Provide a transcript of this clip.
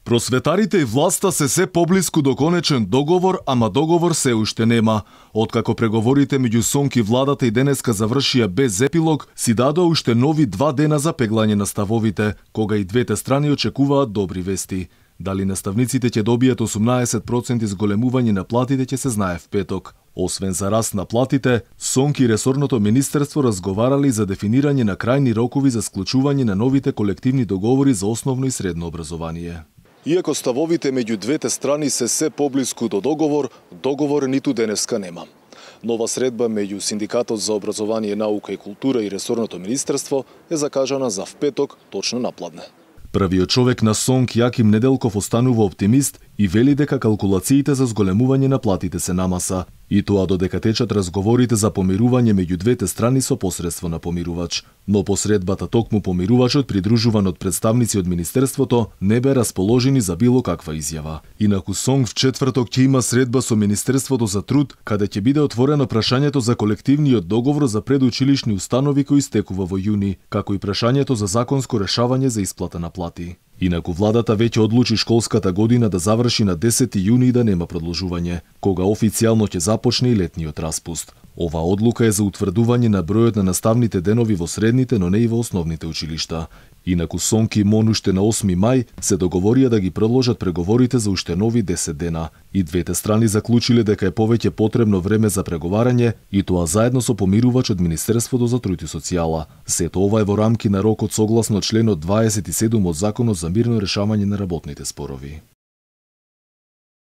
Просветарите и власта се поблиску до конечен договор, ама договор се уште нема. Откако преговорите меѓу СОНК и владата и денеска завршија без епилог, си дадоа уште нови 2 дена за пеглање на ставовите, кога и двете страни очекуваат добри вести. Дали наставниците ќе добијат 18% зголемување на платите ќе се знае в петок. Освен за раст на платите, СОНК и ресорното министерство разговарали за дефинирање на крајни рокови за склучување на новите колективни договори за основно и средно образование. Иако ставовите меѓу двете страни се поблиску до договор ниту денеска нема. Нова средба меѓу Синдикатот за образование, наука и култура и ресорното министерство е закажана за в петок точно напладне. Првиот човек на СОНК Јаким Неделков останува оптимист и вели дека калкулациите за зголемување на платите се на маса, и тоа додека течат разговорите за помирување меѓу двете страни со посредство на помирувач. Но по средбата токму помирувачот, придружуван од представници од министерството, не бе расположени за било каква изјава. Инаку СОНК в четврток ќе има средба со Министерството за труд, каде ќе биде отворено прашањето за колективниот договор за предучилишни установи кој истекува во јуни, како и прашањето за законско решавање за исплата на плати. Инаку владата веќе одлучи школската година да заврши на 10 јуни и да нема продолжување, кога официјално ќе започне и летниот распуст. Ова одлука е за утврдување на бројот на наставните денови во средните, но не и во основните училишта. Инаку СОНК и МОН уште на 8 мај се договорија да ги продолжат преговорите за уште нови 10 дена. И двете страни заклучиле дека е повеќе потребно време за преговарање, и тоа заедно со помирувач од Министерството за труд и социјала. Сето ова е во рамки на рокот согласно членот 27 од Законот за мирно решавање на работните спорови.